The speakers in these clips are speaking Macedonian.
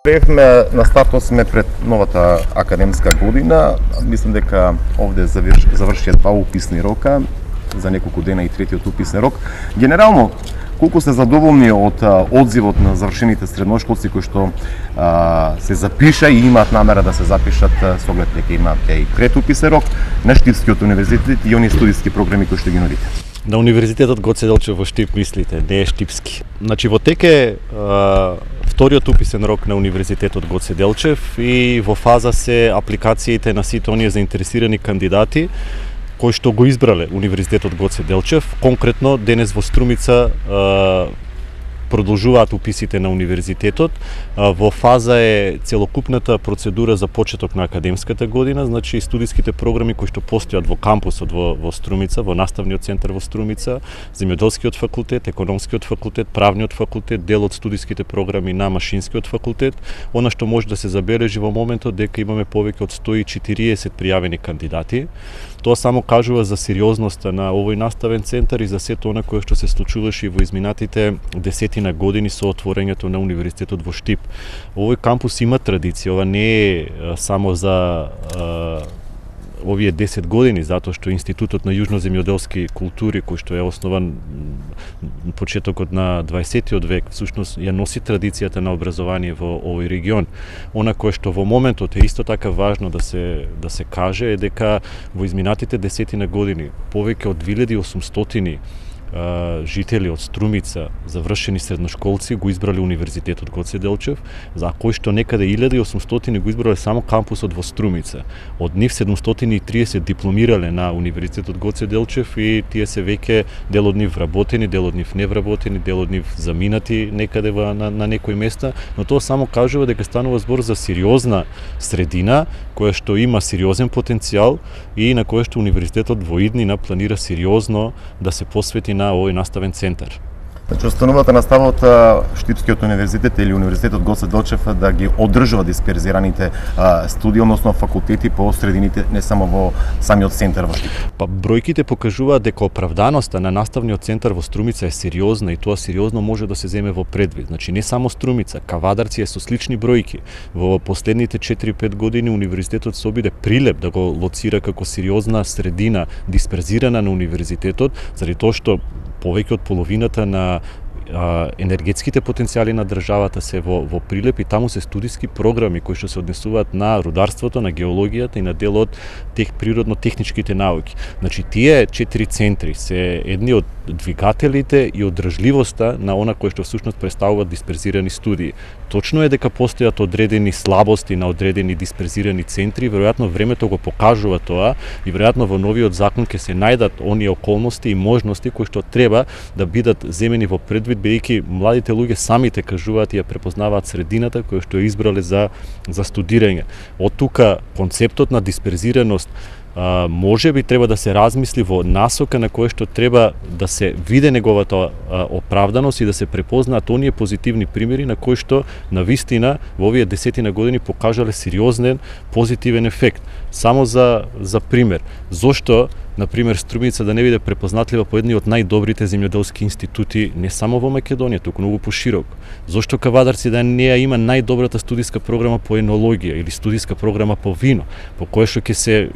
Приехме на стартот сме пред новата академска година. Мислам дека овде завршија 2 уписни рока, за неколку дена и третиот уписен рок. Генерално, колку сте задоволни од одзивот на завршените средношколци кои што се запиша и имаат намера да се запишат со оглед дека имаат и предуписен рок на Штипскиот универзитет и они студиски програми кои што ги нудите? На Универзитетот Гоце Делчев во Штип мислите, не е штипски. Значи во теке вториот уписен рок на Универзитетот Гоце Делчев и во фаза се апликациите на сите оние заинтересирани кандидати кои што го избрале Универзитетот Гоце Делчев. Конкретно денес во Струмица продолжуваат уписите на универзитетот. Во фаза е целокупната процедура за почеток на академската година, значи студиските програми кои што постојат во кампусот во Струмица, во наставниот центар во Струмица, земјоделскиот факултет, економскиот факултет, правниот факултет, дел од студиските програми на машинскиот факултет. Она што може да се забележи во моментот дека имаме повеќе од 140 пријавени кандидати. Тоа само кажува за сериозноста на овој наставен центар и за сето она кое што се случуваше во изминатите десетина години со отворањето на универзитетот во Штип. Овој кампус има традиција, ова не е само за овие 10 години, затоа што Институтот на јужноземјоделски култури, кој што е основан почетокот на 20-тиот век, всушност ја носи традицијата на образование во овој регион. Она кое што во моментот е исто така важно да се каже е дека во изминатите десетина години повеќе од 2800 жители од Струмица, завршени средношколци, го избрале Универзитетот Гоце Делчев, за кој што некаде 1800 го избрале само кампусот во Струмица. Од нив 730 дипломирале на Универзитетот Гоце Делчев и тие се веќе дел од нив вработени, дел од нив невработени, дел од нив заминати некаде на некои места, но тоа само кажува дека станува збор за сериозна средина која што има сериозен потенцијал и на која што универзитетот во иднина планира сериозно да се посвети на овој наставен центар. Значи, останувата наставот Штипскиот универзитет или Универзитетот Гоце Делчев да ги одржува дисперзираните студии, односно факултети по средините, не само во самиот центар во Штип. Па бројките покажуваат дека оправданоста на наставниот центар во Струмица е сериозна и тоа сериозно може да се земе во предвид. Значи не само Струмица, Кавадарци е со слични бројки. Во последните 4-5 години универзитетот се обиде прилеп да го лоцира како сериозна средина дисперзирана на универзитетот, заради тоа што повеќе од половината на енергетските потенцијали на државата се во Прилеп и таму се студиски програми кои што се однесуваат на рударството, на геологијата и на дел од природно-техничките науки. Значи тие 4 центри се едни од двигателите и одржливоста на она кој што всушност представуваат дисперзирани студии. Точно е дека постојат одредени слабости на одредени дисперзирани центри, веројатно времето го покажува тоа и веројатно во новиот закон ќе се најдат оние околности и можности кои што треба да бидат земени во предвид, бидејќи младите луѓе самите кажуваат и ја препознаваат средината која што ја избрале за студирање. Од тука концептот на дисперзираност може би треба да се размисли во насока на која што треба да се виде неговата оправданост и да се препознаат оние позитивни примери на кои што на вистина во овие десетина години покажале сериозен позитивен ефект. Само за пример, зошто например Струмица да не биде препознатлива по едни од најдобрите земјоделски институти не само во Македонија, туку многу пошироко. Зошто Кавадарци да не ја има најдобрата студиска програма по енологија или студиска програма по вино, по која што ќе се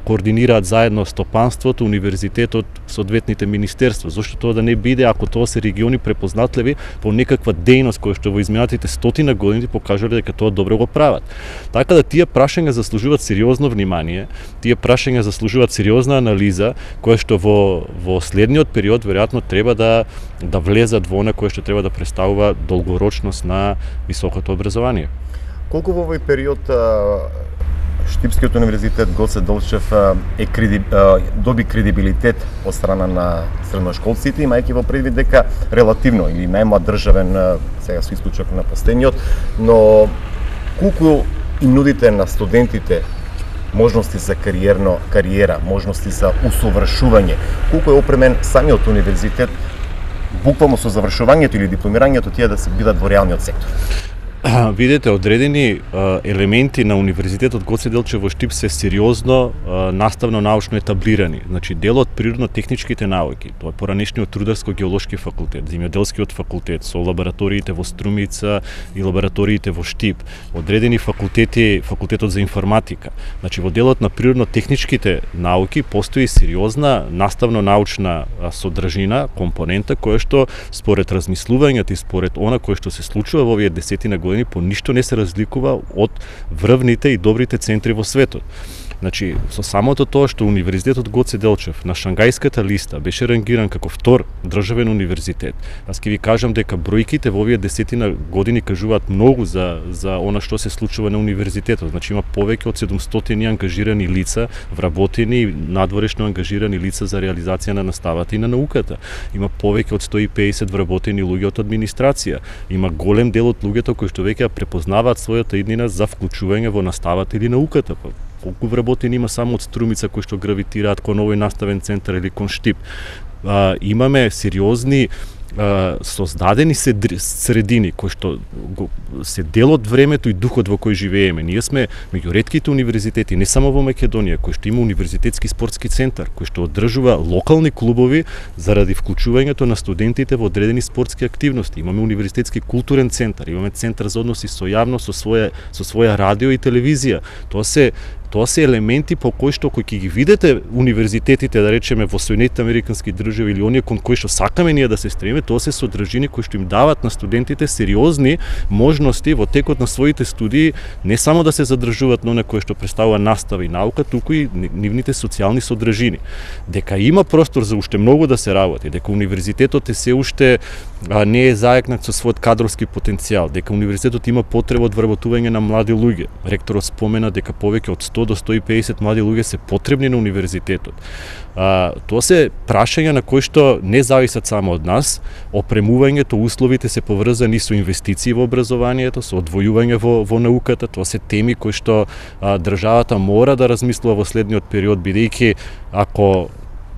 координираат заедно стопанството, универзитетот, соодветните министерства. Зошто тоа да не биде, ако тоа се региони препознатливи по некаква дејност која што во изминатите стотина години покажале дека тоа добро го прават. Така да тие прашања заслужуваат сериозно внимание, тие прашања заслужуваат сериозна анализа, која што во следниот период веројатно треба да влезат во она кое што треба да представува долгорочност на високото образование. Колку во овој период Штипскиот универзитет Гоце Делчев доби кредибилитет од страна на средношколците, имајќи во предвид дека релативно или најмлад државен, сега со исклучок на последниот, но колку им нудите на студентите можности за кариера, можности за усовршување, колку е опремен самиот универзитет буквално со завршувањето или дипломирањето тие да се бидат во реалниот сектор? видите, одредени елементи на Универзитетот Гоце Делчев во Штип се сериозно наставно-научно етаблирани. Значи, дел од природно-техничките науки, тоа е поранешниот Рударско-геолошки факултет, Земјоделскиот факултет, со лабораториите во Струмица и лабораториите во Штип, одредени факултети, факултетот за информатика. Значи, во делот на природно-техничките науки постои сериозна наставно-научна содржина, компонента, која што според размислувањето и според она кое што се случува во овие десетина години по ништо не се разликува од врвните и добрите центри во светот. Значи, со самото тоа што Универзитетот Гоце Делчев на Шангајската листа беше рангиран како втор државен универзитет, аз ќе ви кажам дека бројките во овие десетина години кажуваат многу за она што се случува на универзитетот. Значи, има повеќе од 700 ангажирани лица, вработени и надворешно ангажирани лица за реализација на наставата и на науката. Има повеќе од 150 вработени луѓе од администрација. Има голем дел од луѓето кои што веќе приpoznаваат својата иднина за вклучување во наставата или науката. Колку вработени има само од Струмица кои што гравитираат кон овој наставен центар или кон Штип. Имаме сериозни создадени средини кои што се дел од времето и духот во кој живееме. Ние сме меѓу ретките универзитети, не само во Македонија, кој што има универзитетски спортски центар, кој што одржува локални клубови заради вклучувањето на студентите во одредени спортски активности. Имаме универзитетски културен центар, имаме центар за односи со јавност, со своја радио и телевизија. Тоа се елементи по кои што кои ќе ги видите универзитетите, да речеме во Соединетите американски држави или оние кон кои што сакаме ние да се стремиме, тоа се содржини кои што им дават на студентите сериозни можности во текот на своите студии не само да се задржуваат на кое што представува настава и наука, туку и нивните социјални содржини. Дека има простор за уште многу да се работи, дека универзитетот е се уште не е заекнат со својот кадровски потенцијал, дека универзитетот има потреба од вработување на млади луѓе. Ректорот спомена дека повеќе од 100 до 150 млади луѓе се потребни на универзитетот. Тоа се прашања на кои што не зависат само од нас. Опремувањето, условите се поврзани со инвестиции во образованието, со одвојување во науката. Тоа се теми кои што државата мора да размислува во следниот период, бидејќи ако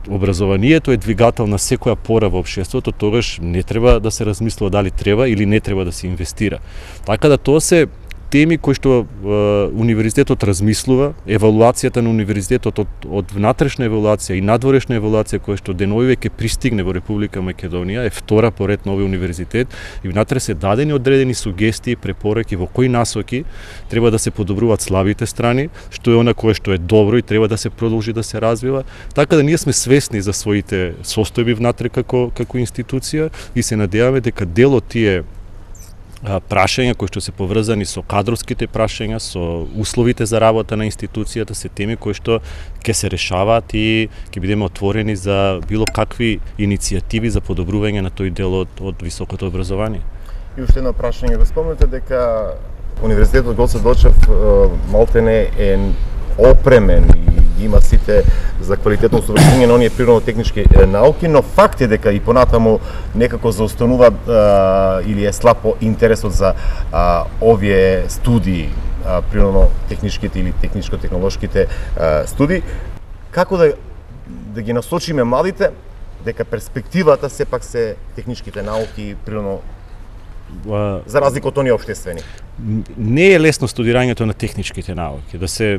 образованието е двигател на секоја пора во општеството, тогаш не треба да се размислува дали треба или не треба да се инвестира. Така да тоа се теми кои што универзитетот размислува, евалуацијата на универзитетот од внатрешна евалуација и надворешна евалуација која што денови ќе пристигне во Република Македонија, е втора поред на овој универзитет и внатре се дадени одредени сугестии, препораки во кои насоки треба да се подобруваат слабите страни, што е она кое што е добро и треба да се продолжи да се развива. Така да ние сме свесни за своите состојби внатре како институција и се надеваме дека дел од тие прашања кои што се поврзани со кадровските прашања, со условите за работа на институцијата, се теми кои што ќе се решаваат и ќе бидеме отворени за било какви иницијативи за подобрување на тој дел од високото образование. И уште едно прашање, го спомнете дека Универзитетот Гоце Делчев малтене е опремен и има сите за квалитетно совршенство на оние природно-технички науки, но факт е дека и понатаму некако заостанува или е слаб интересот за овие студии, природно-техничките или техничко-технолошките студии. Како да ги насочиме младите дека перспективата сепак се техничките науки и природно за разлика од оние општествени? Не е лесно студирањето на техничките науки.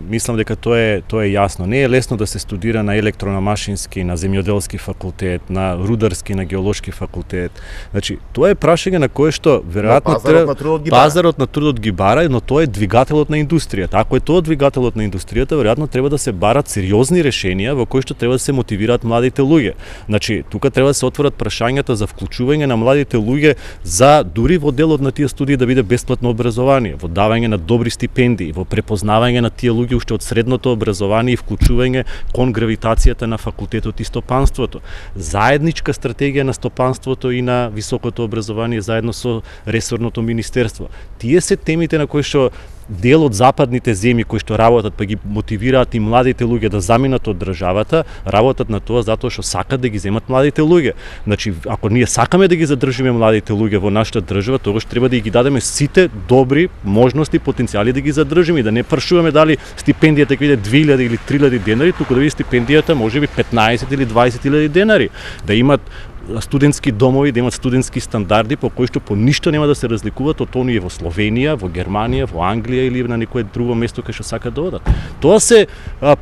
Мислам дека тоа е јасно. Не е лесно да се студира на електронамашински, на земјоделски факултет, на рударски, на геолошки факултет. Значи, тоа е прашање на кое што веројатно пазарот на трудот ги бара, но тоа е двигателот на индустријата. Ако е тоа двигателот на индустријата, веројатно треба да се барат сериозни решенија во кои што треба да се мотивираат младите луѓе. Значи, тука треба да се отворат прашањата за вклучување на младите луѓе за дури во делот на тие студии да биде бесплатно образование, во давање на добри стипендии, во препознавање на тие луѓе уште од средното образование и вклучување кон гравитацијата на факултетот и стопанството. Заедничка стратегија на стопанството и на високото образование заедно со ресорното министерство. Тие се темите на кои што дел од западните земји кои што работат па ги мотивираат и младите луѓе да заминат од државата, работат на тоа затоа што сакат да ги земат младите луѓе. Значи, ако ние сакаме да ги задржиме младите луѓе во нашата држава, тогаш треба да ги дадеме сите добри можности, потенцијали да ги задржиме и да не прашуваме дали стипендијата ќе биде 2000 или 3000 денари, туку да биде стипендијата можеби 15 или 20.000 денари, да имат студентски домови, да имаат студентски стандарди по кои што по ништо нема да се разликуваат од оние во Словенија, во Германија, во Англија или на некое друго место кај што сакаат да одат. Тоа се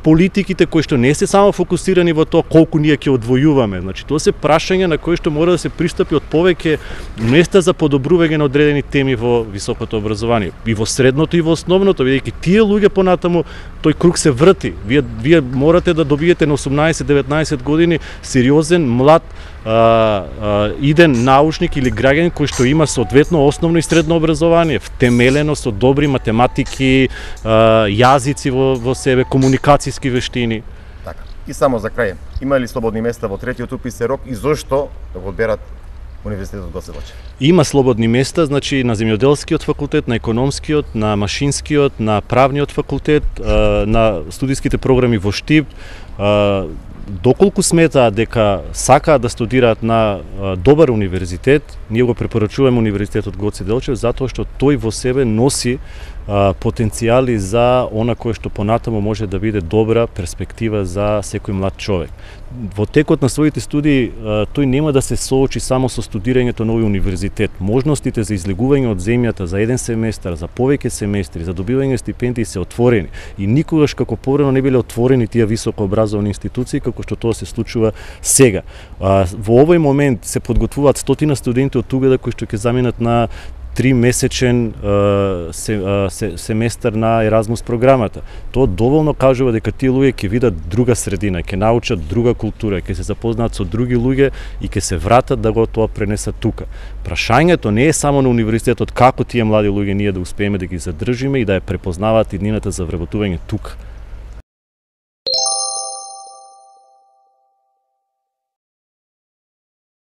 политиките кои што не се само фокусирани во тоа колку ние ќе одвојуваме. Значи тоа се прашања на кои што мора да се пристапи од повеќе места за подобрување на одредени теми во високото образование, и во средното и во основното, бидејќи тие луѓе понатаму тој круг се врти. Вие морате да добиете на 18-19 години сериозен, млад, иден научник или граѓанин кој што има соодветно основно и средно образование, втемелено со добри математики, јазици во себе, комуникацијски вештини. Така. И само за крај, има ли слободни места во третиот уписен рок и зошто да го одберат Универзитетот Гоце Делчев? Има слободни места, значи на земјоделскиот факултет, на економскиот, на машинскиот, на правниот факултет, на студиските програми во Штип. Доколку сметаат дека сакаат да студираат на добар универзитет, ние го препорачуваме Универзитетот Гоце Делчев затоа што тој во себе носи потенцијали за она кое што понатаму може да биде добра перспектива за секој млад човек. Во текот на своите студии тој нема да се соочи само со студирањето на овој универзитет. Можностите за излегување од земјата за еден семестар, за повеќе семестри, за добивање стипендии се отворени и никогаш како порано не биле отворени тие високообразовани институции како што тоа се случува сега. Во овој момент се подготвуваат 100 студенти од Тугеда кои што ќе заминат на 3-месечен семестар на Еразмус програмата. Тоа доволно кажува дека тие луѓе ќе видат друга средина, ќе научат друга култура, ќе се запознаат со други луѓе и ќе се вратат да го тоа пренесат тука. Прашањето не е само на универзитетот како тие млади луѓе ние да успееме да ги задржиме и да ја препознаваат иднината за вработување тука.